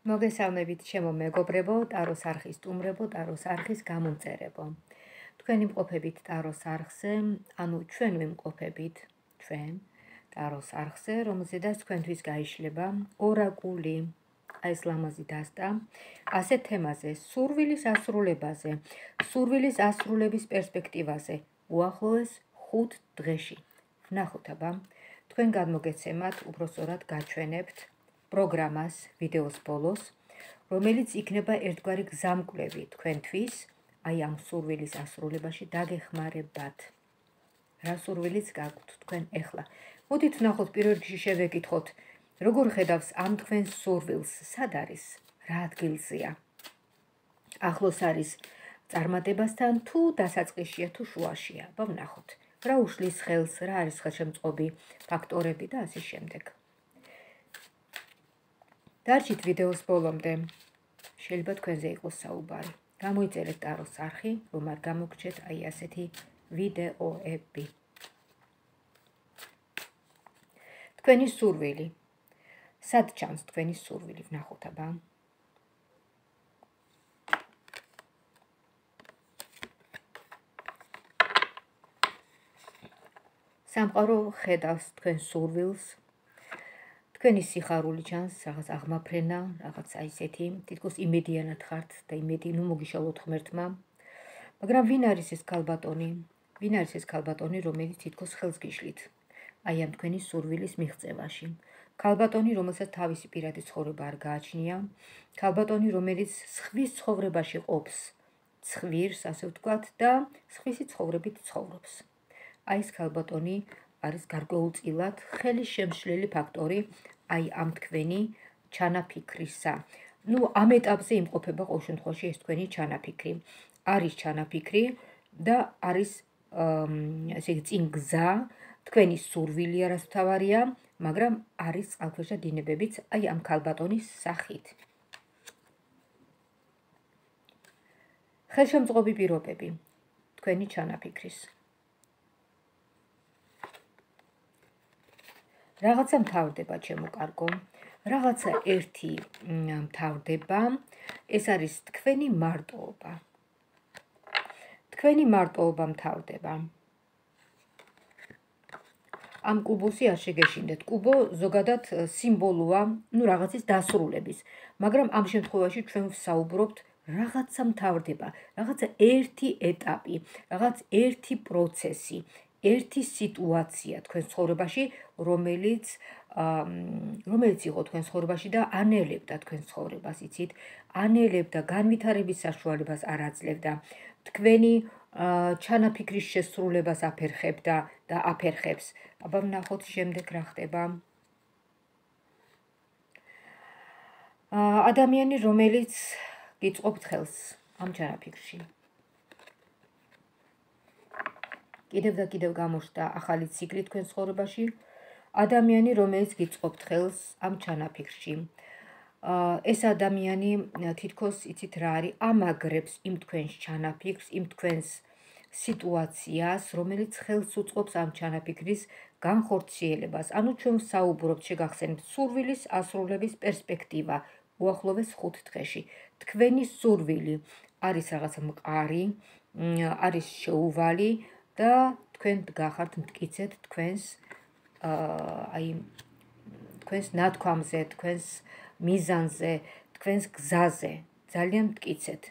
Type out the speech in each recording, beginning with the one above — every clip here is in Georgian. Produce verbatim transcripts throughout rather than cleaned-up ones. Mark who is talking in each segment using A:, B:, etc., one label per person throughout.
A: მოგესალმებით ჩემო მეგობრებო, ტაროს არხის სტუმრებო, ტაროს არხის გამომწერებო. თქვენი მყოფებით ტაროს არხზე, ანუ ჩვენ ვიმყოფებით, ჩვენ ტაროს არხზე, რომელზედაც თქვენთვის გაიშლება ორაკული, აი ეს ლამაზი დასტა, ასეთ თემაზე, სურვილის ასრულებაზე, სურვილის ასრულების პერსპექტივაზე, უახლოეს ხუთ დღეში. ვნახოთ აბა, თქვენ გადმოგეცემათ, უბრალოდ გაჩვენებთ პროგრამას ვიდეოს ბოლოს, რომელიც იქნება ერთგვარი გზამკვლევი თქვენთვის, აი ამ სურვილის ასრულებაში დაგეხმარებათ. რა სურვილიც გაქვთ თქვენ ეხლა. მოდით ვნახოთ პირველ რიგში შევეკითხოთ, როგორ ხედავს ამ თქვენს სურვილს, სად არის, რა ადგილზეა. ახლოს არის წარმატებასთან თუ დასაწყისშია თუ შუაშია, აბა ვნახოთ. რა უშლის ხელს, რა არის ხელშემწყობი ფაქტორები და ასე შემდეგ. დარჩით ვიდეოს ბოლომდე. შეიძლება თქვენზე იყოს საუბარი. გამოიწერეთ ტაროს არხი, რომ არ გამოგრჩეთ აი ასეთი ვიდეოები. თქვენი სურვილი. სად ჩანს თქვენი სურვილი, ვნახოთ აბა. სამყარო ხედავს თქვენ სურვილს. თქვენი სიხარული ჩანს, რაღაც აღმაფრენა, რაღაც აი ესეთი, თითქოს იმედიანად ხართ და იმედი, ნუ მოგიშალოთ ღმერთმა. მაგრამ ვინ არის ეს ქალბატონი? ვინ არის ეს ქალბატონი, რომელიც თითქოს ხელს გიშლით? აი ამ თქვენი სურვილის მიღწევაში. ქალბატონი, რომელსაც თავისი პირადი ცხოვრება არ გააჩნია, ქალბატონი, რომელიც სხვის ცხოვრებაში ყოფს, ცხვირს, ასე ვთქვათ, და სხვისი ცხოვრებით ცხოვრობს. აი ეს ქალბატონი არის გარკვეულწილად ხელის შემშლელი ფაქტორი აი ამ თქვენი ჩანაფიქრისა. ნუ ამ ეტაპზე იმყოფება ყოველ შემთხვევაში ეს თქვენი ჩანაფიქრი. არის ჩანაფიქრი და არის ესე იგი წინ გზა, თქვენი სურვილი არასთავარია, მაგრამ არის წყალქვეშა დინებებიც აი ამ ქალბატონის სახით. ხელშემწყობი პირობები თქვენი ჩანაფიქრის. რაღაცა მთავრდება ჩემო კარგო, რაღაცა ერთი მთავრდება, ეს არის თქვენი მარტოობა. თქვენი მარტოობა მთავრდება. ამ კუბოსი არ შეგეშინდეთ. კუბო ზოგადად სიმბოლოა, ნუ რაღაცის დასრულების, მაგრამ ამ შემთხვევაში ჩვენ ვსაუბრობთ რაღაცა მთავრდება, რაღაცა ერთი ეტაპი, რაღაც ერთი პროცესი. ერთი სიტუაცია თქვენ ცხოვრებაში, რომელიც რომელიც იყო თქვენ ცხოვრებაში და ანელებდა თქვენ ცხოვრებას, იცით? ანელებდა, განვითარების საშუალებას არ აძლევდა. თქვენი ჩანაფიქრის შესრულებას აფერხებდა და აფერხებს. აბა ვნახოთ შემდეგ რა ხდება. ადამიანი, რომელიც გიწყობთ ხელს ამ ჩანაფიქრში. კიდევ და კიდევ გამოჩნდა ახალი ციკლი თქვენ ცხოვრებაში. ადამიანი, რომელიც გიწყობთ ხელს ამ ჩანაფიქრში. ეს ადამიანი თითქოს იცით რა არის, ამაგრებს იმ თქვენს ჩანაფიქრს, იმ თქვენს სიტუაციას, რომელიც ხელს უწყობს ამ ჩანაფიქრის განხორციელებას. ანუ ჩვენ ვსაუბრობთ, შეგახსენებთ, სურვილის ასრულების პერსპექტივა უახლოეს ხუთ დღეში. თქვენი სურვილი არის რაღაც მყარი, არის შეუვალი და თქვენ გახართ მტკიცედ თქვენს აი თქვენს ნათქვამზე, თქვენს მიზანზე, თქვენს გზაზე, ძალიან მტკიცედ.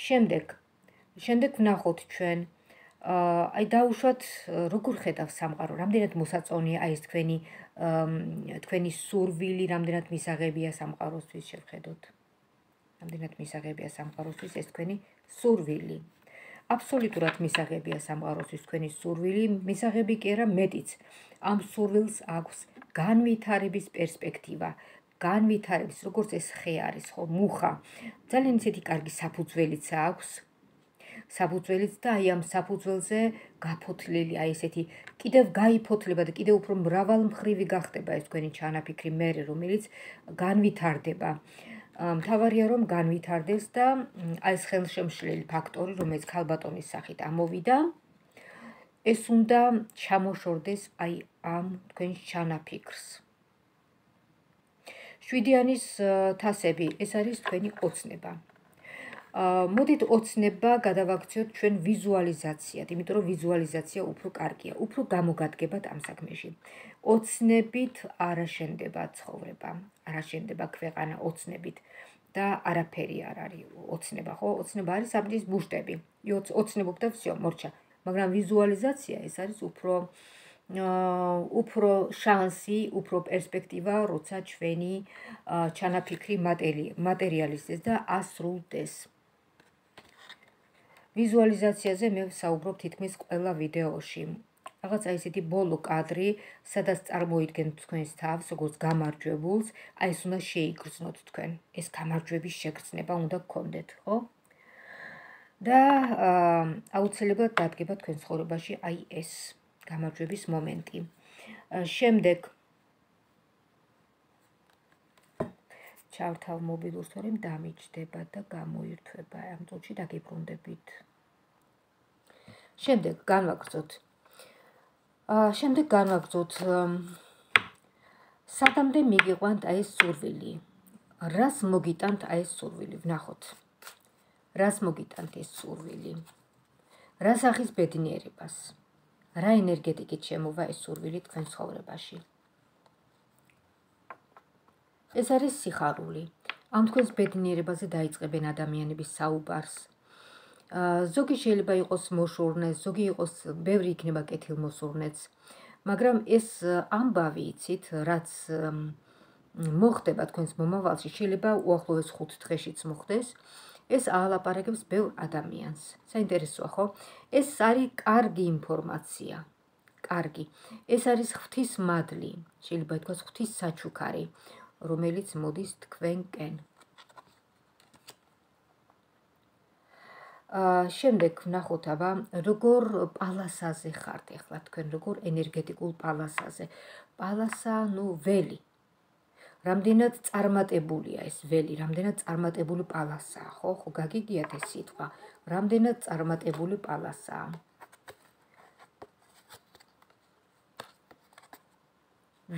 A: შემდეგ, შემდეგ ვნახოთ ჩვენ, აი დაუშვათ, როგორ ხედავს სამყარო, რამდენად მოსაწონია აი ეს თქვენი თქვენი სურვილი, რამდენად მისაღებია სამყაროსთვის შევხედოთ. რამდენად მისაღებია სამყაროსთვის ეს თქვენი სურვილი. აბსოლუტურად მისაღებია სამყაროსთვის თქვენი სურვილი, მისაღები კი არა მეტიც. ამ სურვილს აქვს განვითარების პერსპექტივა, განვითარების, როგორც ეს ხე არის, ხო, მუხა. ძალიან ისეთი კარგი საფუძველიც აქვს. საფუძველიც და აი ამ საფუძველზე გაფოთლილი, აი ესეთი კიდევ გაიფოთლება და კიდევ უფრო მრავალმხრივი გახდება ეს თქვენი ჩანაფიქრი მერე, რომელიც განვითარდება. მთავარია რომ განვითარდეს და აი ეს ხელშემშლელი ფაქტორი, რომელიც ქალბატონის სახით ამოვიდა, ეს უნდა ჩამოშორდეს აი ამ თქვენ ჩანაფიქრს. შვიდიანის თასები, ეს არის თქვენი ოცნება. მოდით ოცნება გადავაქციოთ ჩვენ ვიზუალიზაციად, იმიტომ რომ ვიზუალიზაცია უფრო კარგია, უფრო გამოგადგებათ ამ საქმეში. ოცნებით არ აშენდება ცხოვრება, არ აშენდება ქვეყანა ოცნებით და არაფერი არ არის ოცნება, ხო? ოცნება არის საბჭის ბუშტები. ოცნებობ და всё, მორჩა. მაგრამ ვიზუალიზაცია ეს არის უფრო უფრო შანსი, უფრო პერსპექტივა, როცა ჩვენი ჩანაფიქრი მატერიალიზდეს და ასრულდეს. ვიზუალიზაციაზე მე ვსაუბრობ თითქმის ყველა ვიდეოში. რაღაცა ისეთი ბოლო კადრი, სადაც წარმოიდგენთ თქვენს თავს, როგორც გამარჯვებულს, აი ეს უნდა შეიგრძნოთ თქვენ. ეს გამარჯვების შეგრძნება უნდა გქონდეთ, ხო? და აუცილებლად დადგება თქვენ ცხოვრებაში აი ეს გამარჯვების მომენტი. შემდეგ ჩავთავ მობილურს, თორემ დამიჯდება და გამოირთვება. ამ წუთში დაგიბრუნდებით. შემდეგ განვაგრძოთ. შემდეგ განვაგრძოთ. სადამდე მიგიყვანთ აი ეს სურვილი. რას მოგიტანთ აი ეს სურვილი? ვნახოთ. რას მოგიტანთ ეს სურვილი? რას ახის ბედნიერებას? რა ენერგეტიკით შემოვა ეს სურვილი თქვენ ცხოვრებაში? ეს არის სიხარული. ამ თქვენს ბედნიერებაზე დაიწყებენ ადამიანების საუბარს. ზოგი შეიძლება იყოს მოშორნე, ზოგი იყოს, ბევრი იქნება კეთილმოსურნეც. მაგრამ ეს ამბავი იცით, რაც მოხდება თქვენს მომავალში, შეიძლება უახლოეს ხუთ დღეშიც მოხდეს. ეს აალაპარაკებს ბევრ ადამიანს. საინტერესოა, ხო? ეს არის კარგი ინფორმაცია. კარგი. ეს არის ღვთისმადლი, შეიძლება ითქვას ღვთის საჩუქარი, რომელიც მოდის თქვენკენ. შემდეგ ვნახოთ აბა, როგორ პალასაზე ხართ ახლა თქვენ, როგორ ენერგეტიკულ პალასაზე. პალასა, ნუ ველი. რამდენად წარმატებულია ეს ველი, რამდენად წარმატებული პალასაა, ხო? ხო გაგიგიათ ეს სიტყვა. რამდენად წარმატებული პალასაა.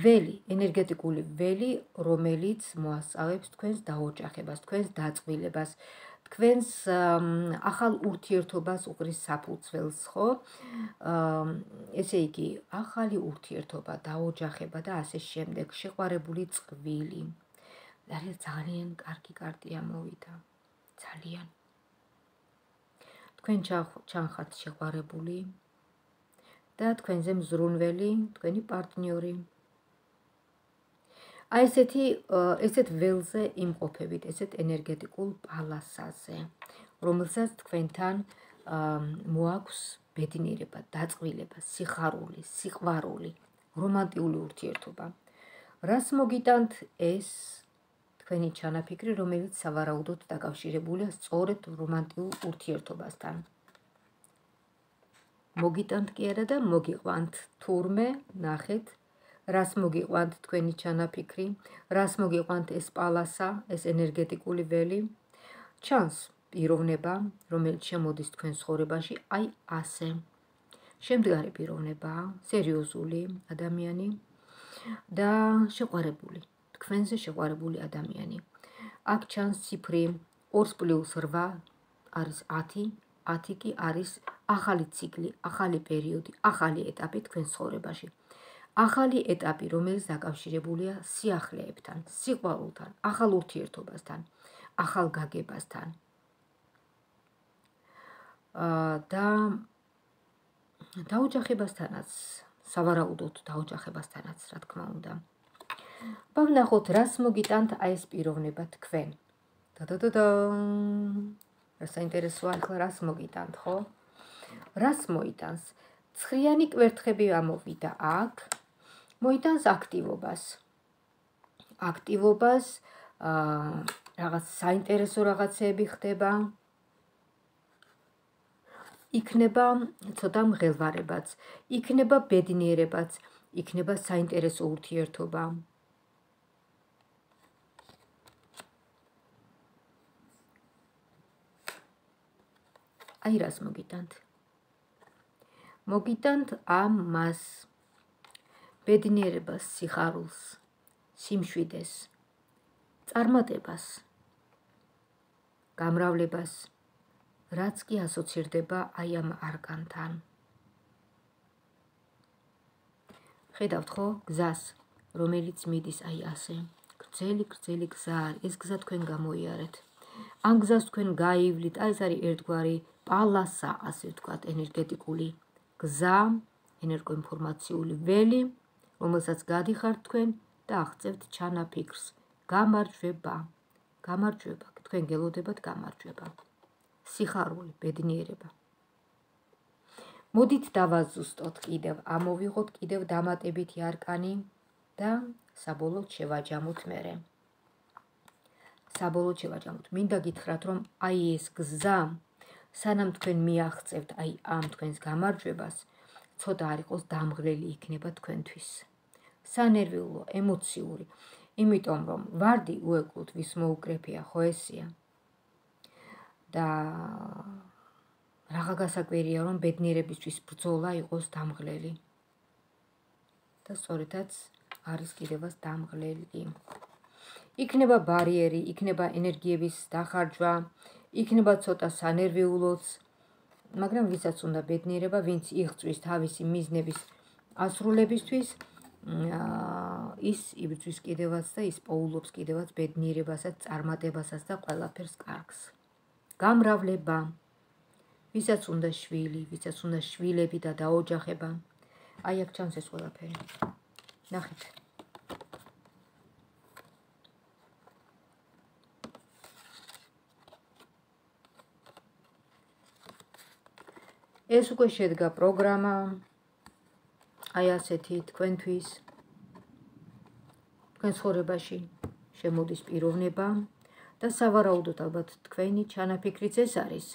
A: ველი, ენერგეტიკული ველი, რომელიც მოასწავებს თქვენს დაოჯახებას, თქვენს დაწყვილებას, თქვენს ახალ ურთიერთობას უყრის საფუძველს, ხო? ესე იგი, ახალი ურთიერთობა, დაოჯახება და ასე შემდეგ, შეყვარებული წყვილი. ძალიან კარგი კარტია მოვიდა. ძალიან. თქვენ ჩანხართ შეყვარებული და თქვენზე მზრუნველი, თქვენი პარტნიორი. აი ესეთი, ესეთ ველზე იმყოფებით, ესეთ ენერგეტიკულ პალასაზე, რომელსაც თქვენთან მოაქვს ბედნიერება, დაწყვილება, სიხარული, სიყვარული, რომანტიული ურთიერთობა. რას მოგიტანთ ეს თქვენი ჩანაფიქრი, რომელიც სავარაუდოდ დაკავშირებულია სწორედ რომანტიულ ურთიერთობასთან. მოგიტანთ კი არა და მოგიყვანთ თურმე, ნახეთ, რას მოგიყვანთ თქვენი ჩანაფიქრი, რას მოგიყვანთ ეს პალასა, ეს ენერგეტიკული ველი. ჩანს პიროვნება, რომელიც შემოდის თქვენ ცხოვრებაში, აი ასე. შემდგარი პიროვნება, სერიოზული ადამიანი და შეყვარებული, თქვენზე შეყვარებული ადამიანი. აქ ჩანს ციფრი ორი პლუს რვა არის ათი, ათი კი არის ახალი ციკლი, ახალი პერიოდი, ახალი ეტაპი თქვენ ცხოვრებაში. ახალი ეტაპი, რომელიც დაკავშირებულია სიახლეებთან, სიყვარულთან, ახალ ურთიერთობასთან, ახალ გაგებასთან. და დაოჯახებასთანაც, სავარაუდოდ დაოჯახებასთანაც, რა თქმა უნდა. ვნახოთ, რას მოგიტანთ აი ეს პიროვნება თქვენ. და-და-და-და. რა საინტერესოა, ახლა რას მოგიტანთ, ხო? რას მოიტანს? ცხრიანი კვერთხები ამოვიდა აქ. მოიტანს აქტივობას. აქტივობას, რაღაც საინტერესო რაღაცები ხდება. იქნება ცოტა მღელვარებაც, იქნება ბედნიერებაც, იქნება საინტერესო ურთიერთობა. აი რას მოგიტანთ? მოგიტანთ ამას. ბედნიერებას, სიხარულს, სიმშვიდეს, წარმატებას, გამრავლებას, რაც კი ასოცირდება აი ამ არკანთან. ხედავთ ხო გზას, რომელიც მიდის აი ასე. გრძელი, გრძელი გზა არის, ეს გზა თქვენ გამოიარეთ. ამ გზას თქვენ გაივლით, აი ეს არის ერთგვარი პალასა, ასე ვთქვათ, ენერგეტიკული გზა, ენერგოინფორმაციული ველი, რომელსაც გადიხართ თქვენ და აღწევთ ჩანაფიქრს. გამარჯვება, გამარჯვება, თქვენ გელოდებათ გამარჯვება. სიხარული, ბედნიერება. მოდით დავაზუსტოთ კიდევ, ამოვიღოთ კიდევ დამატებითი არკანი და საბოლოოდ შევაჯამოთ მერე. საბოლოოდ შევაჯამოთ. მინდა გითხრათ, რომ აი ეს გზა, სანამ თქვენ მიაღწევთ აი ამ თქვენს გამარჯვებას, ცოტა არ იყოს დამღლელი იქნება თქვენთვის. სანერვიულო, ემოციური, იმიტომ რომ ვარდი უეკლოდ ვის მოუკრეფია, ხო ესია? და რაღა გასაკვირია, რომ ბედნიერებისთვის ბრძოლა იყოს დამღლელი. და სწორედაც არის კიდევაც დამღლელი. იქნება ბარიერი, იქნება ენერგიების დახარჯვა, იქნება ცოტა სანერვიულოც, მაგრამ ვისაც უნდა ბედნიერება, ვინც იღწვის თავისი მიზნების ასრულებისთვის, ის იბრძვის კიდევაც და ის პოულობს კიდევაც ბედნიერებასაც, წარმატებასაც და ყველაფერს კარგს. გამრავლება, ვისაც უნდა შვილი, ვისაც უნდა შვილები და დაოჯახება, აი აქ ჩანს ეს ყველაფერი. ნახეთ. ეს უკვე შედგა პროგრამა, აი ასეთი თქვენთვის, თქვენ ცხოვრებაში შემოდის პიროვნება და სავარაუდოდ ალბათ თქვენი ჩანაფიქრიც ეს არის.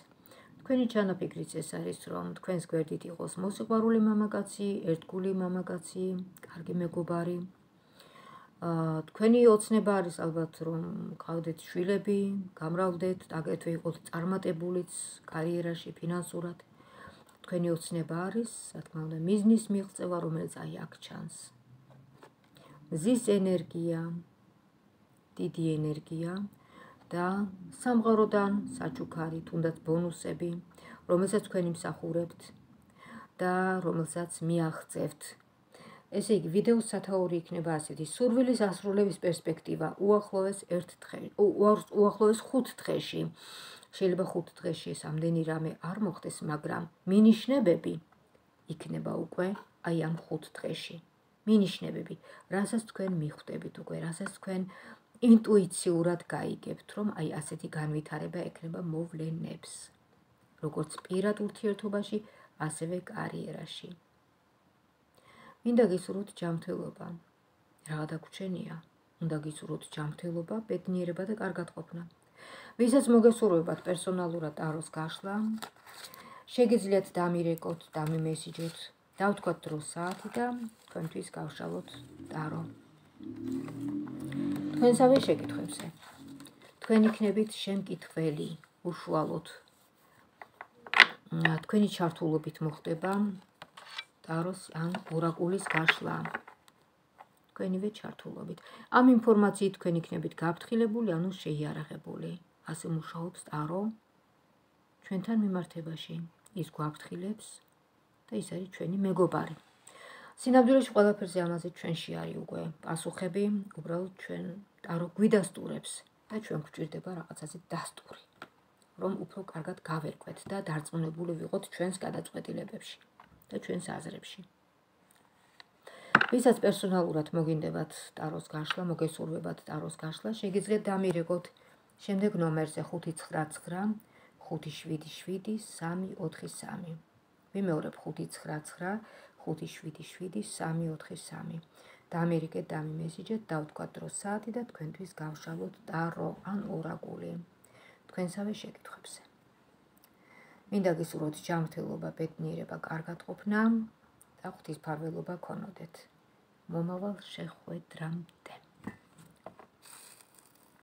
A: თქვენი ჩანაფიქრიც ეს არის, რომ თქვენს გვერდით იყოს მოსიყვარული მამაკაცი, ერთგული მამაკაცი, კარგი მეგობარი. თქვენი ოცნება არის ალბათ, რომ გყავდეთ შვილები, გამრავლდეთ, აგრეთვე იყოთ წარმატებულიც კარიერაში, ფინანსურად. თქვენი ოცნება არის, რა თქმა უნდა, მიზნის მიღწევა, რომელიც აი აქ ჩანს. მზის ენერგია, დიდი ენერგია და სამყაროდან საჩუქარი, თუნდაც ბონუსები, რომელსაც თქვენ იმსახურებთ და რომელსაც მიაღწევთ. ესე იგი, ვიდეოს სათაური იქნება ასეთი: სურვილის ასრულების პერსპექტივა უახლოეს ერთ დღეში, უახლოეს ხუთ დღეში. შეიძლება ხუთ დღეში ეს ამდენი რამე არ მოხდეს, მაგრამ მინიშნებები იქნება უკვე აი ამ ხუთ დღეში. მინიშნებები, რასაც თქვენ მიხვდებით უკვე, რასაც თქვენ ინტუიციურად გაიგებთ, რომ აი ასეთი განვითარება ექნება მოვლენებს. როგორც პირად ურთიერთობაში, ასევე კარიერაში. მინდა გისურვოთ ჯანმრთელობა. რა დაგვრჩენია? უნდა გისურვოთ ჯანმრთელობა, ბედნიერება და კარგადყოფნა. ვისაც მოგესურვებათ პერსონალურად ტაროს გაშლა, შეგიძლიათ დამირეკოთ, დამიმესიჯოთ, დავთქვათ დროს საათი და თქვენთვის გავშალოთ ტარო. თქვენსავე შეკითხვებზე. თქვენ იქნებით შემკითხველი, უშუალოდ. თქვენი ჩართულობით მოხდება ტაროს ან ორაკულის გაშლა. თქვენივე ჩართულობით. ამ ინფორმაციით თქვენ იქნებით გაფრთხილებული, ანუ შეიარაღებული. ასე მუშაობს ტარო ჩვენთან მიმართებაში. ის გვაფრთხილებს და ის არის ჩვენი მეგობარი. სინამდვილეში ყველაფერზე ამაზე ჩვენში არის უკვე პასუხები, უბრალოდ ჩვენ ტარო გვიდასტურებს და ჩვენ გვჭირდება რაღაცაზე დასტური, რომ უფრო კარგად გავერკვეთ და დარწმუნებული ვიყოთ ჩვენს გადაწყვეტილებებში და ჩვენს აზრებში. ვისაც პერსონალურად მოგინდებათ ტაროს გაშლა, მოგესურვებათ ტაროს გაშლა, შეგიძლიათ დამირეკოთ შემდეგ ნომერზე ხუთი ცხრა ცხრა ხუთი შვიდი შვიდი სამი ოთხი სამი. ვიმეორებ ხუთი ცხრა ცხრა ხუთი შვიდი შვიდი სამი ოთხი სამი. დამირეკეთ, დამიმესიჯეთ, დავთქვათ დროს საათი და თქვენთვის გავშალოთ ტარო ან ორაკული თქვენსავე შეკითხვებზე. მინდა გისურვოთ ჯანმრთელობა, ბედნიერება, კარგადყოფნა და ღვთისმფარველობა გქონოდეთ. მომავალ შეხვედრამდე.